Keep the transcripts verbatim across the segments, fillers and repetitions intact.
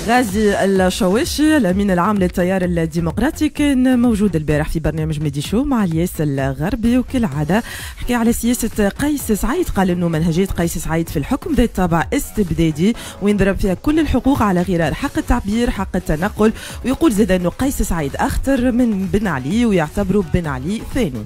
غازي الشواشي الأمين العام للتيار الديمقراطي كان موجود البارح في برنامج ميدي شو مع الياس الغربي، وكالعادة حكى على سياسة قيس سعيد، قال أنه منهجية قيس سعيد في الحكم ذات طابع استبدادي وينضرب فيها كل الحقوق على غرار حق التعبير، حق التنقل، ويقول زاد أنه قيس سعيد أخطر من بن علي ويعتبره بن علي ثاني.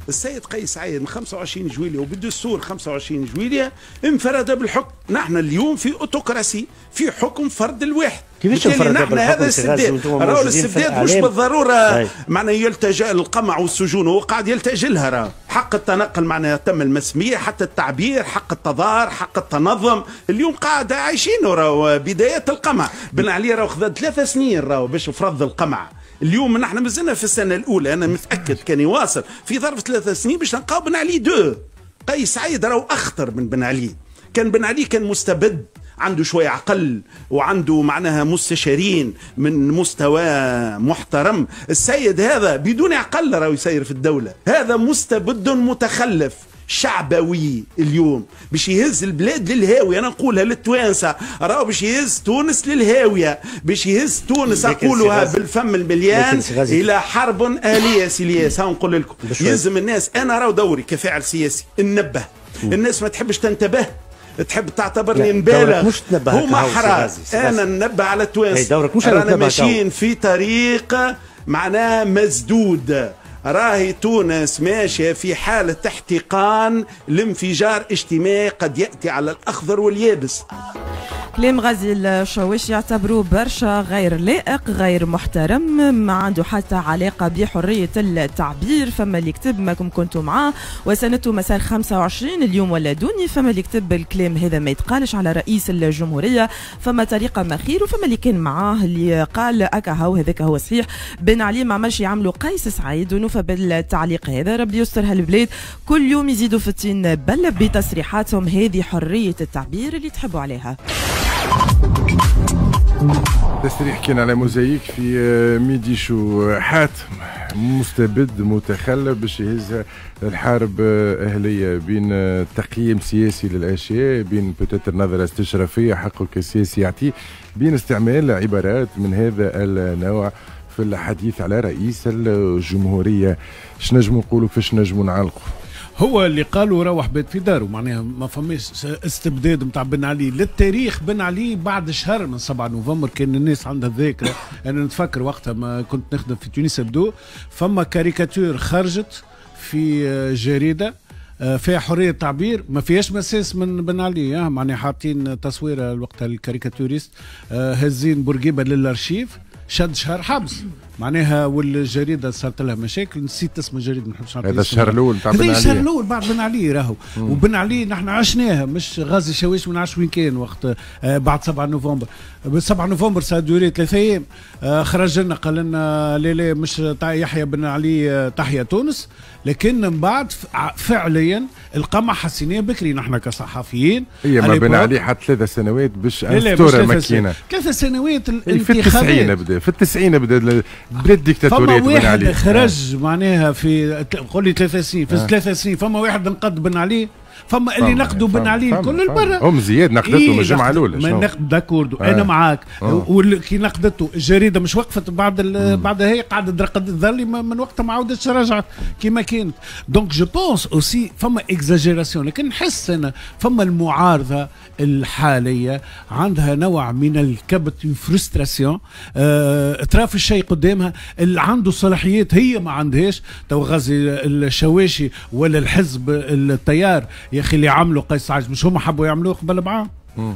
السيد قيس سعيد من خمسة وعشرين جويلية وبالدستور خمسة وعشرين جويلية انفرد بالحكم. نحن اليوم في autocratie، في حكم فرد الواحد. كيفاش انفرد بالحكم؟ هذا الاستبداد، راهو الاستبداد مش بالضرورة معناها يلتجأ للقمع والسجون، هو قاعد يلتجئ لها. راه حق التنقل معناها تم المسمية، حتى التعبير، حق التظاهر، حق التنظم، اليوم قاعد عايشين راهو بداية القمع. بن علي راهو خذا ثلاث سنين راهو باش فرض القمع. اليوم نحن مازلنا في السنة الأولى، أنا متأكد كان يواصل في ظرف ثلاث سنين باش نلقاو بن علي deux. قيس سعيد راهو أخطر من بن علي. كان بن علي كان مستبد، عنده شوية عقل وعنده معناها مستشارين من مستوى محترم. السيد هذا بدون عقل راهو يسير في الدولة، هذا مستبد متخلف شعبوي. اليوم باش يهز البلاد للهاوية، أنا نقولها للتوانسة، راهو باش يهز تونس للهاوية، باش يهز تونس أقولها بالفم المليان إلى حرب آلية. سي الياس ها نقول لكم يلزم الناس، أنا راهو دوري كفاعل سياسي ننبه الناس، ما تحبش تنتبه، تحب تعتبرني نبالغ، هما حرار. أنا ننبه على التوانسة، رانا ماشيين في طريق معناه مسدود، راهي تونس ماشية في حالة احتقان لانفجار اجتماعي قد يأتي على الأخضر واليابس. كلام غازي الشواشي يعتبروه برشا غير لائق، غير محترم، ما عنده حتى علاقة بحرية التعبير. فما اللي كتب ماكم كنتوا معاه وسنته مسار خمسة وعشرين اليوم ولا دوني، فما اللي كتب الكلام هذا ما يتقالش على رئيس الجمهورية، فما طريقة ما خير، وفما اللي كان معاه اللي قال أكا هو هذاك هو صحيح، بن علي ما عملش يعملوا قيس سعيد. ونوفى بالتعليق هذا، ربي يستر هالبلاد، كل يوم يزيدوا في الطين بل بتصريحاتهم هذه حرية التعبير اللي تحبوا عليها. تصريح كان على موزايك في ميدي شو، حاتم مستبد متخلف باش يهزها الحرب أهلية، بين تقييم سياسي للأشياء، بين peut-être نظرة استشرافية حقه كسياسي يعطيه، بين استعمال عبارات من هذا النوع في الحديث على رئيس الجمهورية. اش نجمو نقولوا، كيفاش نجمو نعلقوا؟ هو اللي قالوا روح بيت في داره، معناها ما فماش استبداد نتاع بن علي للتاريخ. بن علي بعد شهر من سبعة نوفمبر كان الناس عندها الذاكرة، انا نتفكر وقتها ما كنت نخدم في تونس ابدو، فما كاريكاتور خرجت في جريدة فيها حرية التعبير، ما فيهاش مساس من بن علي، معناها حاطين تصويره وقتها ال caricaturiste هزين بورقيبة للارشيف، شد شهر حبس معناها، والجريده صارت لها مشاكل، نسيت اسم الجريدة ما نحبش نعطي. هذا الشهر الاول تاع بن علي، هذا الشهر الاول بعد بن علي راهو. وبن علي نحن عشناها، مش غازي شواش ما نعرفش وين كان وقت آه بعد سبعة نوفمبر. سبعة نوفمبر ça a duré ثلاثة ايام، آه خرج لنا قال لنا لا لا مش يحيى بن علي آه تحيا تونس. لكن من بعد فعليا القمع حسيناه بكري نحن كصحفيين. هي ما بن علي حتى ثلاث سنوات باش instaura ماكينة، ثلاث سنوات الانتخابات في التسعين بدا، في التسعين بدا بدا الديكتاتورية بن علي. فما واحد خرج معناها في قول لي ثلاث سنين، في ثلاث سنين فما واحد نقد بن علي، فما اللي نقدوا بن علي الكل البرا. هم زياد نقدته إيه من الجمعة الاولى. ما نقد d'accord آه. انا معاك آه. وكي نقدته الجريدة مش وقفت بعد بعد هي قعدت رقدت ظلي من وقتها ما عاودتش رجعت كيما كانت. donc je pense aussi فما exagération، لكن نحس انا فما المعارضة الحالية عندها نوع من الكبت، frustration، آه تراف الشيء قدامها، اللي عنده صلاحيات هي ما عندهاش. تو غازي الشواشي ولا الحزب التيار يا اخي اللي عملوا قيس سعيد مش هما حبوا يعملوه قبل بعام،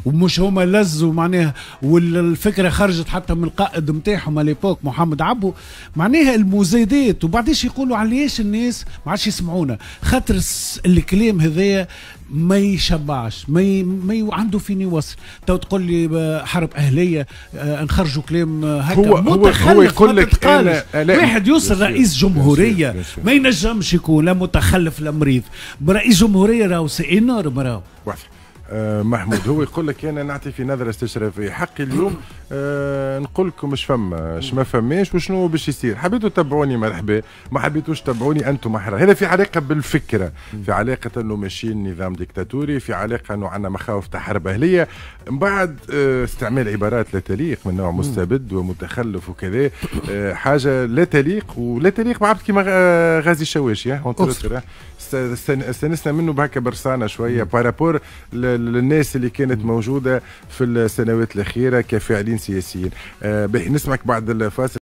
ومش هما لزوا معناها، والفكرة خرجت حتى من القائد نتاعهم à l'époque محمد عبو. معناها المزايدات، وبعديش يقولوا علاش الناس ما عادش يسمعونا، خاطر الكلام هذايا ما يشبعش، ما ي... ما ي... عنده فين يوصل. تو تقول لي حرب اهليه آه نخرجوا كلام هكا هو متخلف، هو يقول لك أنا واحد يوصل رئيس جمهورية ما ينجمش يكون لا متخلف لا مريض. رئيس جمهورية راهو c'est énorme راهو. واضح. محمود، هو يقول لك انا نعطي في نظره استشرافيه، حقي اليوم آه نقول لكم اش فما اش ما فماش وشنو باش يصير، حبيتوا تتبعوني مرحبا، ما حبيتوش تتبعوني انتم احرار. هذا في علاقة بالفكرة، في علاقة انه ماشيين نظام ديكتاتوري، في علاقة انه عندنا مخاوف تاع حرب اهليه، من بعد آه استعمال عبارات لا تليق من نوع مستبد ومتخلف وكذا، آه حاجة لا تليق ولا تليق بعبد كيما غازي الشواشي. استانسنا منه بهكا برصانه شوية par rapport للناس اللي كانت موجودة في السنوات الاخيرة كفاعلين سياسيين. آه نسمعك بعد الفاصل.